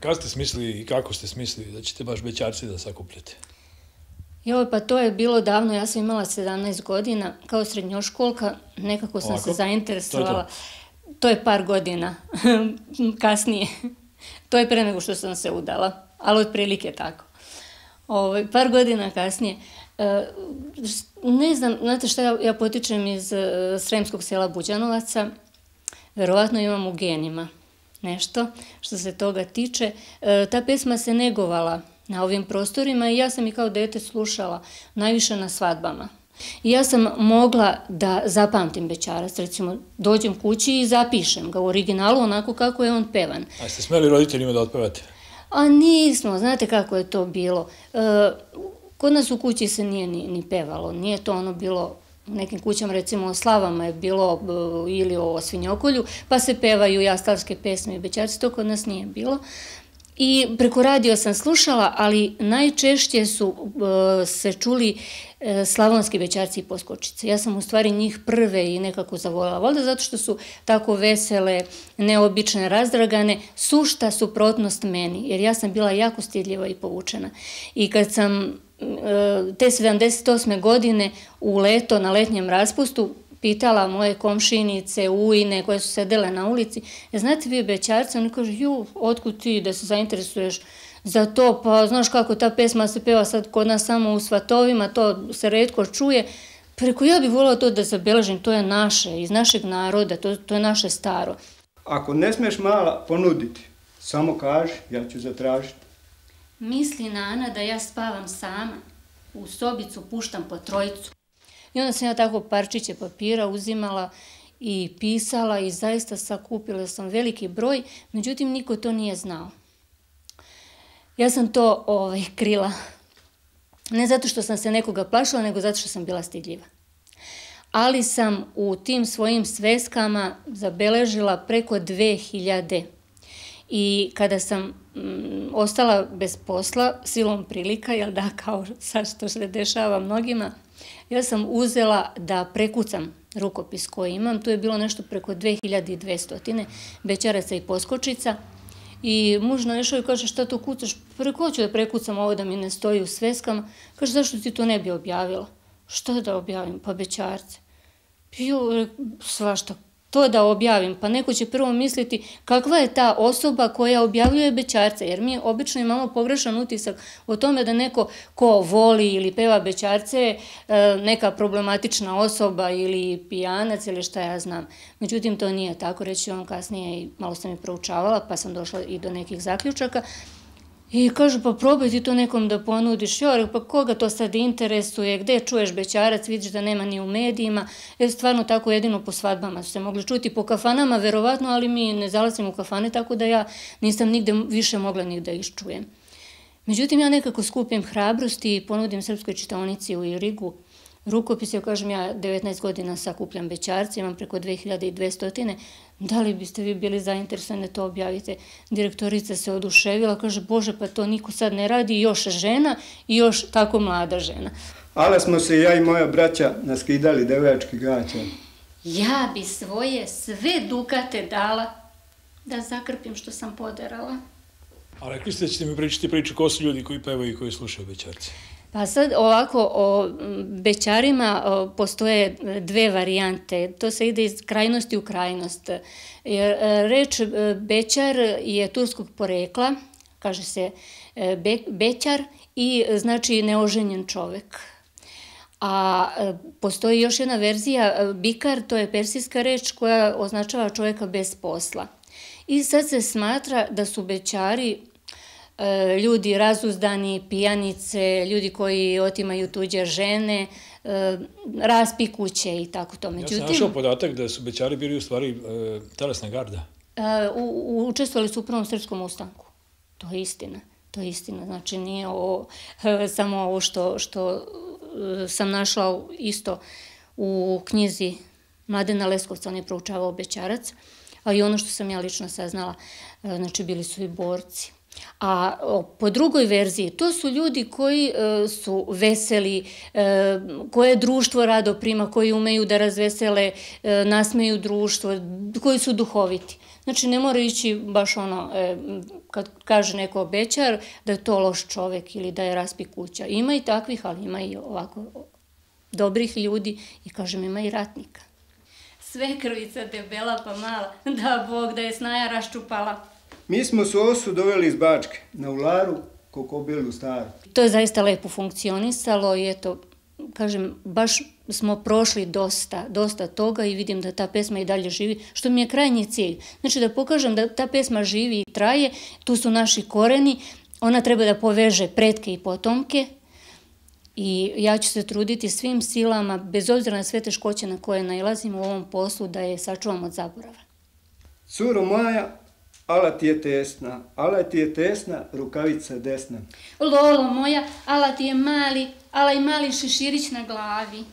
Kad ste smislili i kako ste smislili da ćete baš bećarci da sakupljate? Joj, pa to je bilo davno, ja sam imala 17 godina, kao srednjoškolka, nekako sam se zainteresovala. To je par godina kasnije. To je pre nego što sam se udala, ali otprilike tako. Par godina kasnije. Ne znam, znate šta, ja potičem iz sremskog sela Buđanovaca, verovatno imam u genima nešto što se toga tiče. Ta pesma se negovala na ovim prostorima i ja sam i kao dete slušala najviše na svadbama. I ja sam mogla da zapamtim bećarac, recimo dođem kući i zapišem ga u originalu onako kako je on pevan. A ste smeli roditeljima da otpevate? A nismo, znate kako je to bilo. Kod nas u kući se nije ni pevalo, nije to ono bilo, u nekim kućama recimo o slavama je bilo ili o svinjokolju, pa se pevaju jastarske pesme i bećarci, to kod nas nije bilo. I preko radio sam slušala, ali najčešće su se čuli slavonski bećarci i poskočice. Ja sam u stvari njih prve i nekako zavoljela. Valjda zato što su tako vesele, neobične, razdragane, sušta suprotnost meni, jer ja sam bila jako stidljiva i povučena. I kad sam te 78. godine u leto, na letnjem raspustu, pitala moje komšinice, ujne koje su sedele na ulici, znate vi bećarce? Oni kažu, otkud ti da se zainteresuješ za to, pa znaš kako ta pesma se peva sad kod nas samo u svatovima, to se retko čuje. Preko ja bih voljela to da zabeležim, to je naše, iz našeg naroda, to je naše staro. Ako ne smiješ mala ponuditi, samo kaži, ja ću zatražiti. Misli Nana da ja spavam sama, u sobicu puštam po trojicu. I onda sam ja tako parčiće papira uzimala i pisala i zaista sakupila sam veliki broj, međutim niko to nije znao. Ja sam to krila, ne zato što sam se nekoga plašila, nego zato što sam bila stidljiva. Ali sam u tim svojim sveskama zabeležila preko 2000. I kada sam ostala bez posla, silom prilika, jel da, kao sad što se dešava mnogima, ja sam uzela da prekucam rukopis koji imam. Tu je bilo nešto preko 2200 bećaraca i poskočica. I muž naišao i kaže, šta to kucaš? Preko hoću da prekucam ovo da mi ne stoji u sveskama. Kaže, zašto ti to ne bi objavila? Što da objavim? Pa bećarce. Svašta. To da objavim, pa neko će prvo misliti kakva je ta osoba koja objavljuje bećarce, jer mi obično imamo pogrešan utisak o tome da neko ko voli ili peva bećarce neka problematična osoba ili pijanac ili šta ja znam. Međutim, to nije tako, reći vam kasnije i malo sam i proučavala, pa sam došla i do nekih zaključaka. I kažu, pa probaj ti to nekom da ponudiš, pa koga to sad interesuje, gde čuješ bećarac, vidiš da nema ni u medijima, stvarno tako jedino po svadbama su se mogli čuti, po kafanama verovatno, ali mi ne zalazim u kafane, tako da ja nisam nigde više mogla ni da ih čujem. Međutim, ja nekako skupim hrabrosti i ponudim Srpskoj čitaonici u Irigu rukopis, ja kažem, ja 19 godina sakupljam bećarce, imam preko 2200. Da li biste vi bili zainteresovani da to objavite? Direktorica se oduševila, kaže, Bože, pa to niko sad ne radi, još žena i još tako mlada žena. Ali smo se ja i moja braća naskidali devojački gaća. Ja bi svoje sve dukate dala da zakrpim što sam poderala. A rekli ste da ćete mi pričati priču ko su ljudi koji pevaju i koji slušaju bećarce. Pa sad ovako, o bećarima postoje dve varijante, to se ide iz krajnosti u krajnost. Reč bećar je turskog porekla, kaže se bećar i znači neoženjen čovek. A postoji još jedna verzija, bikar, to je persijska reč koja označava čoveka bez posla. I sad se smatra da su bećari ljudi razuzdani, pijanice, ljudi koji otimaju tuđe žene, raspi kuće i tako to. Ja sam našao podatak da su bećari bili u stvari telesna garda. Učestvovali su u Prvom srpskom ustanku. To je istina. To je istina. Znači nije samo ovo što sam našla isto u knjizi Mladena Leskovca, on je proučavao bećarac, a i ono što sam ja lično saznala, znači bili su i borci. A po drugoj verziji, to su ljudi koji su veseli, koje društvo rado prima, koji umeju da razvesele, nasmeju društvo, koji su duhoviti. Znači ne mora ići baš ono, kad kaže neko bećar, da je to loš čovek ili da je raspi kuća. Ima i takvih, ali ima i ovako dobrih ljudi i kažem ima i ratnika. Svekrvica debela pa mala, da Bog da je snaja raščupala. Mi smo sosu doveli iz Bačke, na Ularu, Kokobilu staru. To je zaista lepo funkcionisalo i eto, kažem, baš smo prošli dosta toga i vidim da ta pesma i dalje živi, što mi je krajnji cilj. Znači da pokažem da ta pesma živi i traje, tu su naši koreni, ona treba da poveže pretke i potomke i ja ću se truditi svim silama, bez obzira na sve teškoće na koje nailazimo u ovom poslu, da je sačuvam od zaborava. Curo moja, ala ti je tesna, rukavica desna. Lolo moja, ala ti je mali, ala i mali šeširić na glavi.